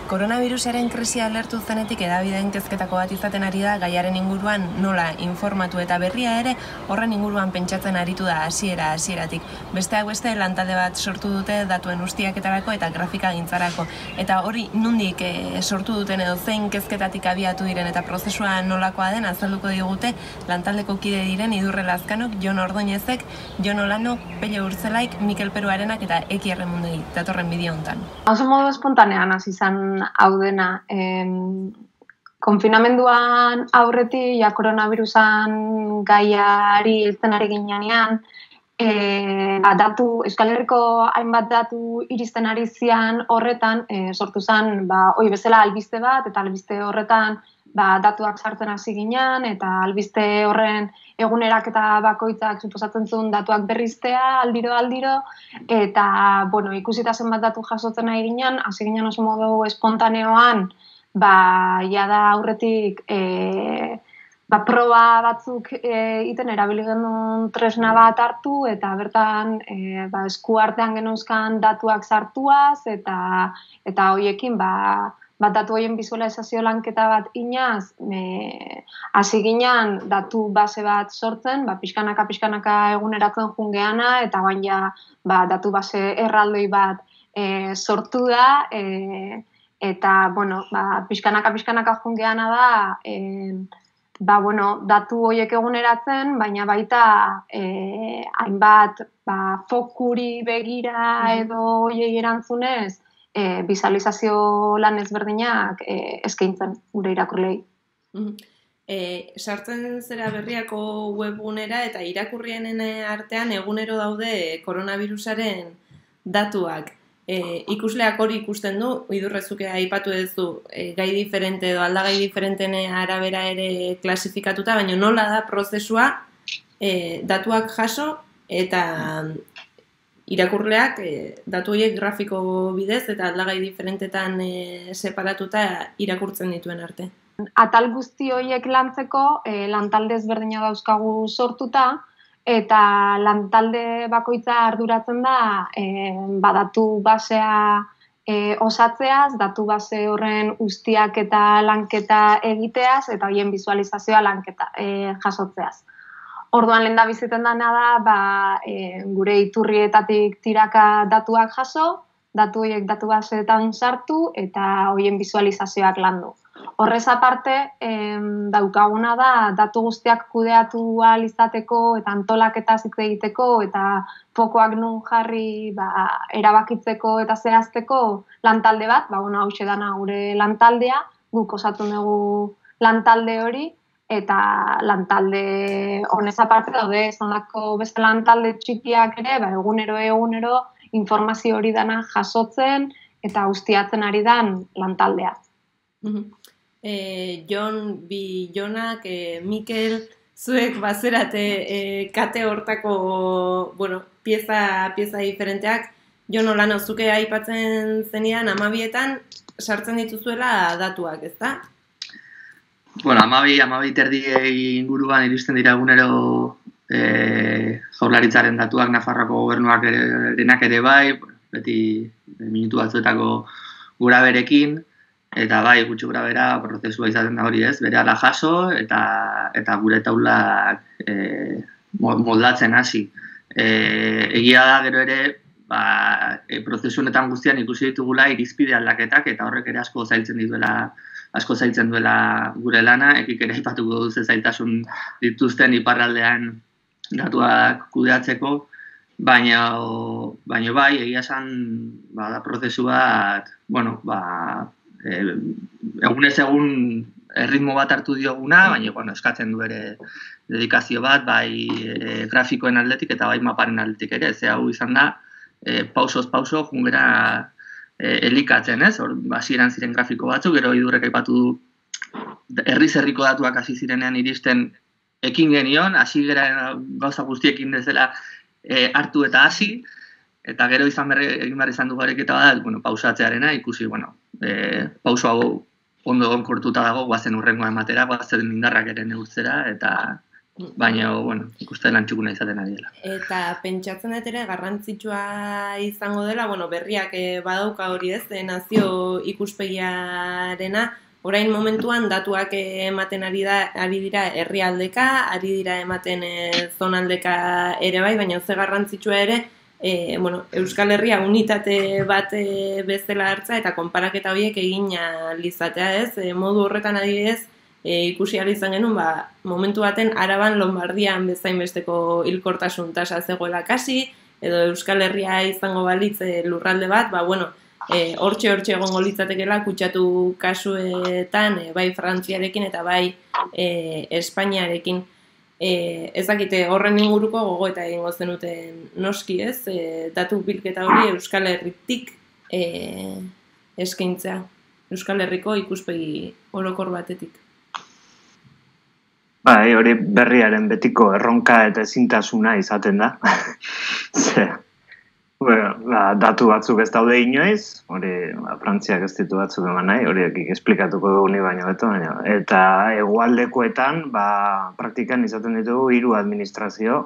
Koronavirusaren krisia alertu zenetik hedabideen kezketako bat izaten ari da gaiaren inguruan nola informatu eta berria ere horren inguruan pentsatzen aritu da hasieratik. Besteak beste lantalde bat sortu dute datuen ustiaketarako eta grafikagintzarako. Eta hori nondik sortu duten edo zein kezketatik abiatu diren eta prozesua nolakoa den azalduko digute lantaldeko kide diren Idurre Lazkanok, Jon Ordoñezek, Jon Olanok, Pelle Urtzelaik, Mikel Peruarenak eta Eki Erremundegi datorren bideo hontan. Oso modu espontanean hasi izan hau dena. Konfinamenduan aurretik koronavirusan gaiari heltzen ari ginean, Euskal Herriko hainbat datu iristen ari zian horretan, sortu zen hori bezala albiste bat, eta albiste horretan datuak sartzen hasi ginean, eta albiste horren eguneraketa bakoitzak suposatzen zuen datuak berriztea aldiro, eta ikusita zenbat datu jasotzen ari ginean, hasi ginean oso modu espontaneoan, jada aurretik proba batzuk iten erabili genuen tresna bat hartu, eta bertan esku artean genuzkan datuak sartuaz, eta horiekin datu horien bizualizazio lanketa bat inaz, hasi ginean datu base bat sortzen, pixkanaka eguneratzen jungeana, eta datu base erraldoi bat sortu da, eta pixkanaka jungeana da, datu horiek eguneratzen, baina baita hainbat fokuri begira edo horiei erantzunez, bizualizazio lan ezberdinak eskaintzen gure irakurleei. Sartzen zera Berriako webgunera eta irakurrienen artean egunero daude koronavirusaren datuak. Ikusleak hori ikusten du, Idurrezuke aipatu duzu gai diferente edo aldagai diferenten arabera ere klasifikatuta, baina nola da prozesua datuak jaso eta irakurleak datu horiek grafiko bidez eta aldagai diferentetan separatuta irakurtzen dituen arte. Atal guzti horiek lantzeko lantalde ezberdina dauzkagu sortuta, eta lantalde bakoitza arduratzen da datu basea osatzeaz, datu base horren ustiak eta lanketa egiteaz, eta horien bizualizazioa lanketa jasotzeaz. Orduan lehen da biziten dena da, gure iturrietatik tiraka datuak jaso, datu horiek datu baseetan sartu, eta horien bizualizazioak landu. Horrez aparte, daukaguna da, datu guztiak kudeatu ahal izateko, eta antolaketa hitz egiteko, eta fokoak nun jarri erabakitzeko eta zehazteko lantalde bat, hauxe dana gure lantaldea, guk osatu dugu lantalde hori, eta lantalde honez aparte daude, zonako beste lantalde txikiak ere, egunero informazio hori dana jasotzen eta ustiatzen ari dan lantaldea. Jon, Jonak, Mikel, zuek bazerate kate hortako pieza diferenteak. Jon Olano, zuke aipatzen zenidan 12etan sartzen dituzuela datuak, ezta? 12 terdiei inguruan iristen dira egunero Jaurlaritzaren datuak, Nafarroako gobernuak denak ere bai, beti minutu batzuetako gura berekin, eta gutxi gura bera prozesua izaten da hori ez, berehala jaso eta gure taulak moldatzen hasi. Egia da gero ere, prozesu honetan guztian ikusi ditugula irizpide aldaketak, eta horrek ere asko zailtzen duela gure lana, ekik ere aipatuko duze zailtasun dituzten iparraldean datuak kudeatzeko, baina egia esan da prozesu bat, egunez egun erritmo bat hartu dioguna, baina eskatzen du ere dedikazio bat, grafikoen aldetik eta maparen aldetik ere, ze hau izan da, pausoz pauso jungera elikatzen, ez? Hasieran ziren grafiko batzuk, gero Idurrek aipatu du herriz-herriko datuak hasi zirenean iristen ekin genion, hasi gara gauza guztiekin dezela hartu eta hasi, eta gero egin behar izan du gareketa bat, pausatzearena, ikusi, pauso hau ondo egonkortuta dago, guazen urrengoa ematera, guazen indarrak ere neurtzera, eta baina, bueno, ikuste lan txukuna izaten ari dela. Eta pentsatzen dut ere garrantzitsua izango dela, bueno, berriak badauka hori ez, nazio ikuspegiarena, orain momentuan datuak ematen ari dira herrialdeka, ari dira ematen zonaldeka ere bai, baina ze garrantzitsua ere, bueno, Euskal Herria unitate bat bezala hartza eta konparaketa horiek egin lizatea ez, modu horretan adibidez, ikusi ahal izan genuen, momentu baten Araban Lombardian bezainbesteko hilkortasun tasa zegoela kasi, edo Euskal Herria izango balitz lurralde bat, bueno, hortxe egongo litzatekela kutsatu kasuetan, bai Frantziarekin eta bai Espainiarekin. Ez dakite horren inguruko gogoeta egingo zenuten noski ez, datu bilketa hori Euskal Herritik eskaintzea, Euskal Herriko ikuspegi orokor batetik. Bai, hori berriaren betiko erronka eta ezintasuna izaten da. Datu batzuk ez daude inoiz, hori Frantziak ez ditu batzuk eman nahi, horiek esplikatuko dugu ni baino beto, eta hegoaldekoetan praktikan izaten ditugu 3 administrazio,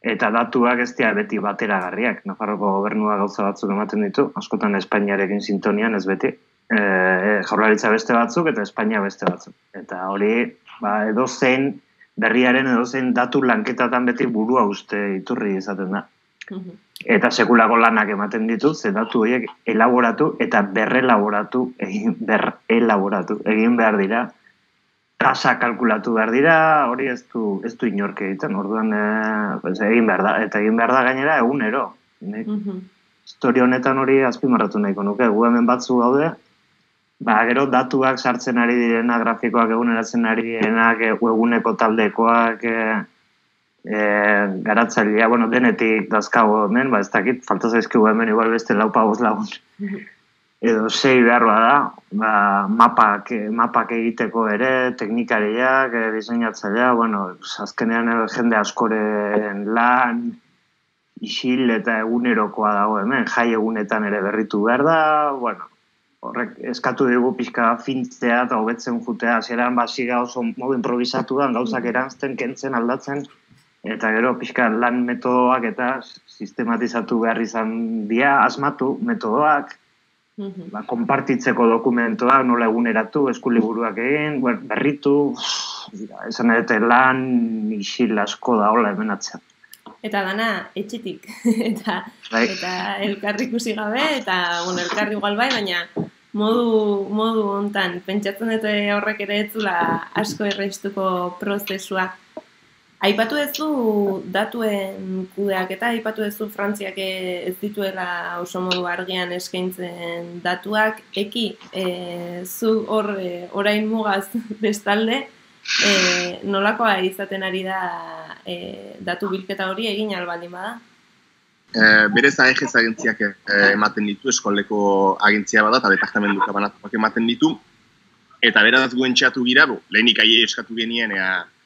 eta datuak ez dira beti bateragarriak. Nafarroko gobernua gauza batzuk ematen ditu, askotan Espainiarekin sintonian ez beti, Jaurlaritza beste batzuk eta Espainia beste batzuk. Eta hori edozein berriaren edozein datu lanketatan beti burua uste iturri izaten da. Eta sekulako lanak ematen ditu, ze datu horiek elaboratu eta berrelaboratu egin behar dira. Tasa kalkulatu behar dira, hori ez du inork egiten, orduan egin behar da. Eta egin behar da gainera egunero. Historia honetan hori azpimarratu nahiko nuke, gu hemen batzu gaude, gero datuak sartzen ari direna, grafikoak eguneratzen ari direnak, eguneko taldekoak, garatzailea, denetik dazkago hemen, ez dakit, falta zaizkigu hemen igual beste 4-5 lagun. Edo 6 beharroa da, mapak egiteko ere, teknikariak, diseinatzailea, azkenean jende askoren lan, isil eta egunerokoa dago hemen, jai egunetan ere berritu behar da, horrek eskatu dugu pixka fintzea eta hobetzen jutea, hasieran basiga oso modu improvisatuan, gauzak eranzten, kentzen, aldatzen, eta gero pixka lan metodoak eta sistematizatu behar izan dira, asmatu metodoak, konpartitzeko dokumentoak, nola eguneratu, eskuliburuak egin, berritu, esan edete lan isil asko da hola hemen atzean. Eta dana etxetik, eta elkarri ikusi gabe, eta elkarri igual bai, baina modu hontan, pentsatzen dut horrek ere etzula asko erreztuko prozesua. Aipatu duzu datuen kudeaketa, aipatu duzu Frantziak ez dituela oso modu argian eskaintzen datuak, zu orain mugaz bestalde, nolakoa izaten ari da datu bilketa hori egin albaldin bada? Berez AEGES agentziak ematen ditu, eskoleko agentzia bada, eta departamentuka banatuak ematen ditu, eta beraz guen txatu gira, lehenik eskatu genien,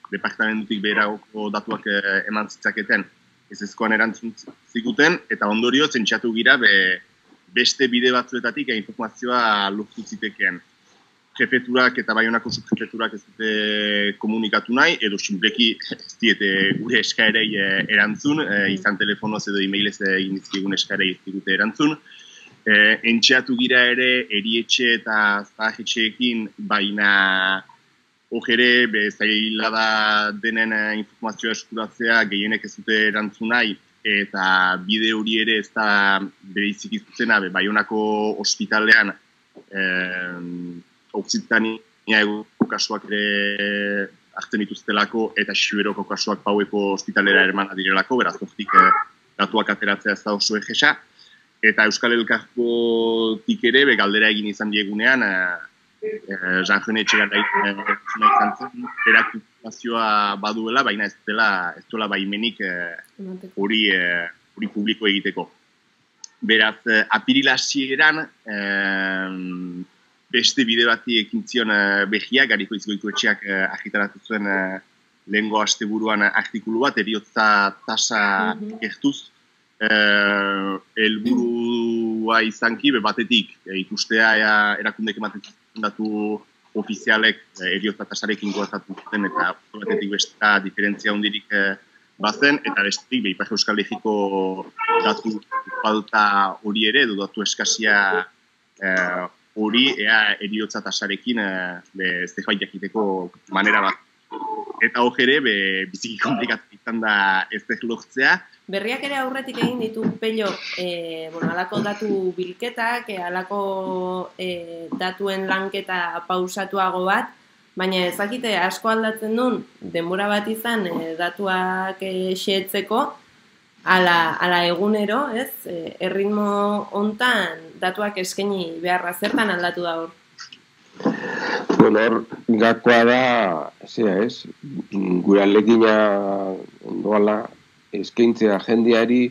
departamentutik beragoko datuak eman zitzaketen ezezkoan erantzun ziguten, eta ondorio zentxatu gira beste bide batzuetatik informazioa lortu zitekeen. Jefeturak eta Baionako subjefeturak ez dute komunikatu nahi, edo sinpleki ez diete gure eskaerei erantzun, izan telefonoz edo e-mailez egin dizkigun eskaerei ez digute erantzun. Entxeatu gira ere erietxe eta zahetxeekin, baina hojere zaila da denen informazioa eskuratzea gehienek ez dute erantzun nahi, eta bide hori ere ez da bereizik izuzena, Baionako ospitalean Occitania kasuak ere hartzen dituztelako eta Xiberoko kasuak Paueko ospitalera ermana direlako, beraz hortik datuak ateratzea ez da oso egesa. Eta Euskal Elkargotik ere galdera egin izan diegunean, Jean-Jone Etxegarai izan zen, erakutazioa baduela, baina ez duela baimenik hori publiko egiteko. Beraz, apirila hasieran beste bide bati ekin zion behia, Gariko Izgoikoetxeak argitaratu zuen lehengo asteburuan artikulu bat, heriotza tasa gertuz, helburua izanki, batetik ikustea erakundek ematen datu ofizialek heriotza tasarekin goazatu zuten eta batetik besta diferentzia hundirik bazen, eta bestetik Ipar Euskal Herriko datu falta hori ere, edo datu eskasia hori ea heriotza tasarekin zerbait jakiteko manera bat. Eta hor ere, biziki komplikatu izan da ez lortzea. Berriak ere aurretik egin ditu Pello, alako datu bilketak, alako datuen lanketa pausatuago bat, baina ezakite asko aldatzen duen, denbora bat izan datuak xehetzeko, ala egunero, ez? Erritmo hontan datuak eskaini beharra zertan aldatu da hor? Bueno, hor, gakoa da, gure alegina ondoala, eskaintzea jendeari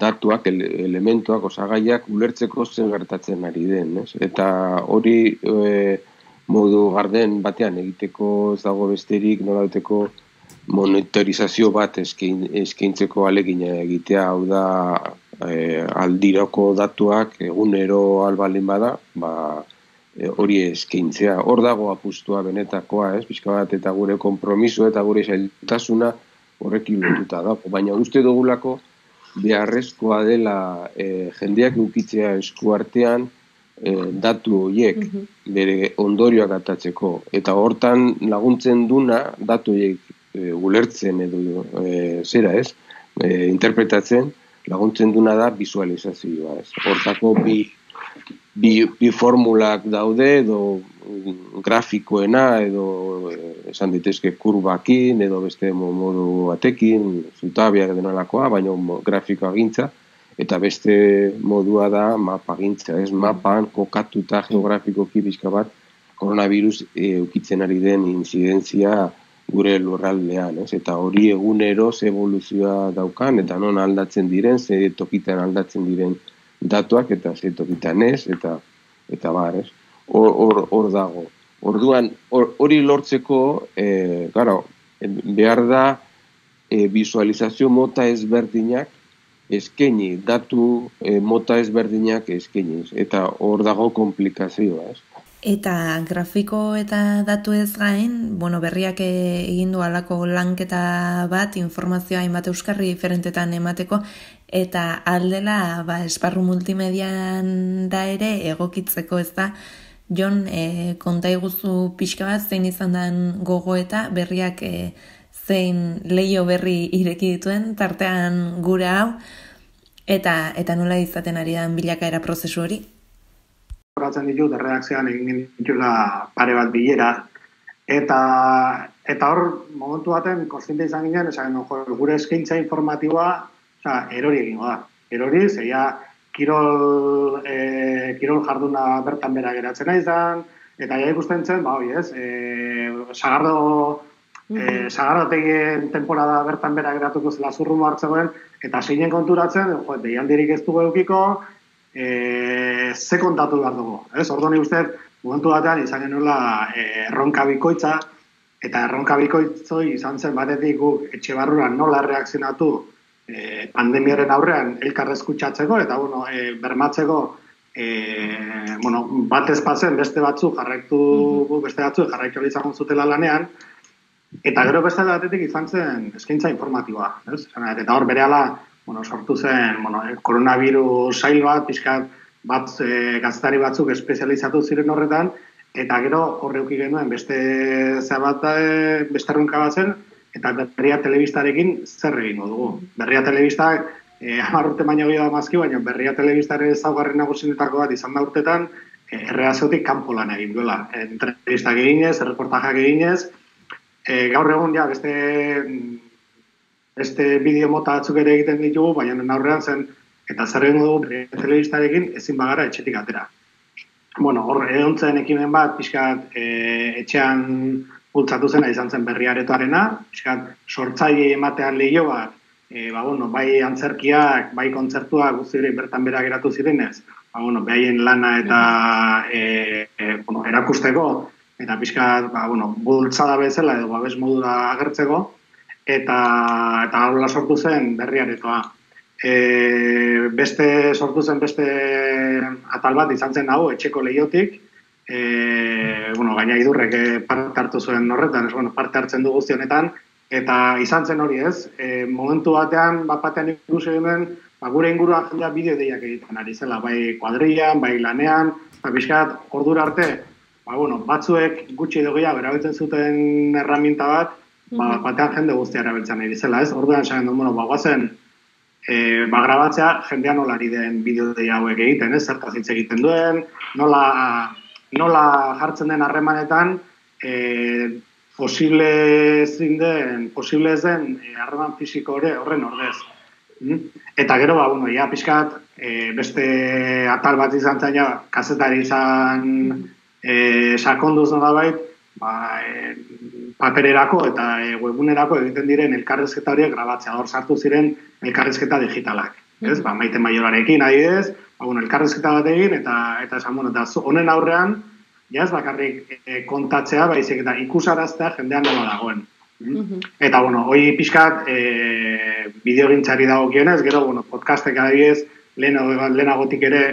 datuak, elementuak, osagaiak ulertzeko zen gertatzen ari den, ez? Eta hori modu garden batean egiteko ez dago besterik, nolabateko monitorizazio bat eskaintzeko alegina egitea, hau da aldirako datuak egunero albalin bada, hori eskaintzea. Hor dago apustua benetakoa, pixka bat, eta gure konpromiso eta gure zailtasuna horrekin lotuta da. Baina uste dugulako beharrezkoa dela jendeak eukitzea eskuartean datu horiek bere ondorioak atatzeko. Eta hortan laguntzen duna datu horiek ulertzen edo interpretatzen laguntzen duna da visualizazioa. Hortako bi formulak daude, edo grafikoena, edo esan ditezke kurbakin, edo beste modu batekin, zutabiak denolakoa, baina grafikoa gintza, eta beste modua da mapa gintza, mapan kokatuta geografikoki bizka bat, koronavirus eukitzen ari den inzidentzia gure lurraldean, eta hori egunero ze evoluzioa daukan, eta non aldatzen diren, ze tokitan aldatzen diren datuak eta zetokitan ez, eta bar, ez? Hor dago. Orduan, hori lortzeko, behar da visualizazio mota ezberdinak eskaini, datu mota ezberdinak eskaini, eta hor dago komplikazioa, ez? Eta grafiko eta datu ez gain, berriak egin du alako lanketa bat, informazioa hainbat euskarri diferentetan emateko, eta aldela esparru multimedian da ere egokitzeko, ez da, Jon, konta iguzu pixka bat, zein izan den gogoeta, berriak zein leio berri ireki dituen, tartean gure hau, eta nola izaten ari den bilakaera prozesu hori? Horatzen ditut, erredakzioan egin ditula pare bat bilera, eta hor, momentu baten, kontziente izan ginen, esan gure eskaintza informatiboa, erori egingo da. Erori, zeia, kirol jarduna bertan bera geratzen izan, eta ja ikusten zen, Sagardotegien temporada bertan bera geratuko zela zurrumo hartzegoen, eta zeinen konturatzen, deialdirik ez dugu eukiko, ze kontatu behar dugu. Orduan uste, momentu batean izan genuela erronka bikoitza, eta erronka bikoitzoi izan zen batetik guk etxe barruan nola reakzionatu pandemiaren aurrean elkar eskutsatzeko, eta bermatzeko bat ezpazen beste batzuk jarraitu izan zutela lanean, eta gero beste batetik izan zen eskaintza informatiboa. Eta hor berehala sortu zen koronavirus sail bat, pixkat bat gaztari batzuk espezializatu ziren horretan, eta gero horreuki genuen beste erronka bat zen, eta Berria Telebistarekin zer egingo dugu. Berria Telebistak 10 urte baino gehiago mazki, baina Berria Telebistaren ezaugarri nagusienetako bat izan da urtetan, erredakziotik kanpo lan egin duela. Entrevistak eginez, erreportajak eginez, gaur egun beste bideo mota batzuk ere egiten ditugu, baina aurrean zen, eta zer egin dugu Berria Telebistarekin ezin bagara etxetik atera. Hor edontzen ekimen bat, pixkat etxean bultzatu zena izan zen Berri Aretoarena, pixkat sortzaile ematean lehio bat, bai antzerkiak, bai kontzertuak guztiak bertan bera geratu zirenez, behaien lana eta erakusteko, eta pixkat bultzada bezala edo babes modura agertzeko, eta hola sortu zen Berri Aretoa. Sortu zen beste atal bat izan zen hau etxeko lehiotik, bueno, gaina idurrek parte hartu zuen horretan, bueno, parte hartzen du guzti honetan, eta izan zen hori ez, momentu batean, batean ikusi hemen, gure inguruan jendea bideo-deiak egiten ari zela, bai kuadrillan, bai lanean, eta pixkat, ordura arte, bueno, batzuek gutxi edo gehiago erabiltzen zuten erraminta bat, batean jende guztia erabiltzen ari zela, ez? Orduan esan du, bueno, guazen, grabatzea jendean nola ari den bideo-deia hauek egiten, ez? Zertaz hitz egiten duen, nola jartzen den harremanetan, posible ez den harreman fisiko horren ordez. Eta gero, bueno, ja pixkat, beste atal bat izan zen, kazetari izan sakonduz nolabait, papererako eta webunerako egiten diren elkarrezketa horiek grabatzea, hor sartu ziren elkarrezketa digitalak. Ez? Maite Maiorarekin adibidez, elkarrezketa bat egin eta esan, eta honen aurrean, ja ez bakarrik kontatzea, baizik eta ikusaraztea jendean nola dagoen. Eta, bueno, hoi pixkat bideogintzari dagokionez, gero, bueno, podcastek adibidez, lehenagotik ere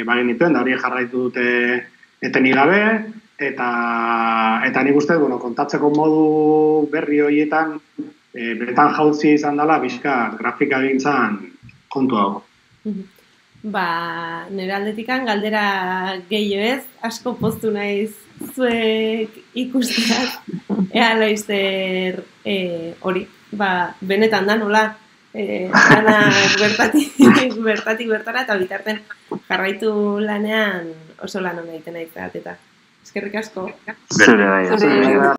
bagenituen, da hori jarraitu dute etenik gabe, eta nik uste, bueno, kontatzeko modu berri horietan, beretan jautzi izan dela, pixkat grafika gintzan kontu hau. Nire aldetikan galdera gehiago ez, asko poztu naiz zuek ikusteak, ea laizzer hori, benetan da nola, dana bertatik bertara, eta bitarten jarraitu lanean oso lan hona egiten aizaat, eta eskerrik asko. Zure bai.